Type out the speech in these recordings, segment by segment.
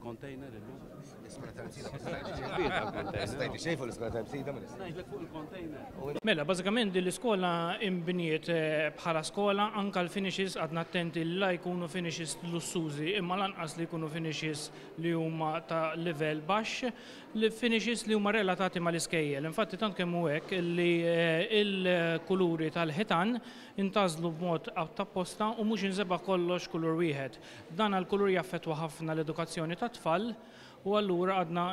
il-container illum? L-iskola tal-Msida ma stajtx xejn fuq l-iskola tal-Msida ma Ngħidlek fuq il-container. Mela, bażikament din l-iskola inbniet bħala skola anke l-finishes qgħadna attenti li la jkunu finishes lussużi imma lanqas li jkunu finishes li huma ta' livell baxx, li finishes li huma relatati mal-iskejjel. Infatti tant kemm hu hekk li l-kuluri tal-ħitan intgħażlu b'mod apposta u mhux inżebgħa kollox kulur wieħed. Dan għall-kulur jaffettwa ħafna l-edukazzjoni tat-tfal u allura qgħadna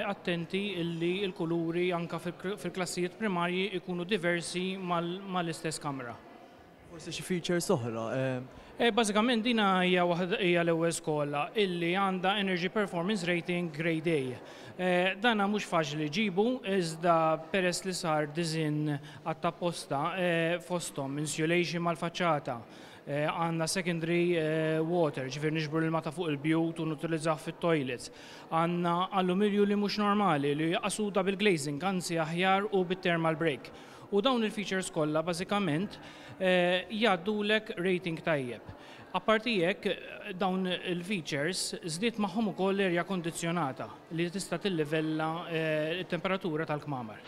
attenti li l-kuluri anke fil-klassijiet primarji jkunu diversi mal-istess kamra. Forsi xi features oħra. Bażikament din hija waħda hija l-ewwel skola illi għandha Energy Performance Rating Grade A. Dana mhux faċli ġġibu iżda peress li sar disinn għat-apposta fosthom insulation mal-faċċata, għandna secondary water, ġifieri niġbru l-ilma ta' fuq il-bjut u nutilizzah fit-toilets. Għandna alluminju li mhux normali li jaqasu double glazing, anzi aħjar u bit-thermal break. U dawn il-features kollha bażikament jgħaddulek rating tajjeb. Apparti hekk, dawn il-features żdied magħhom ukoll erja kondizzjonata li tista' tillivella t-temperatura tal-kmamar.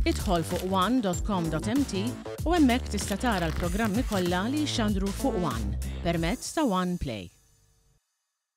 Idħol fuq one.com.mt u hemmhekk tista' tara l-programmi kollha li jixxandru fuq One permezz ta' One Play.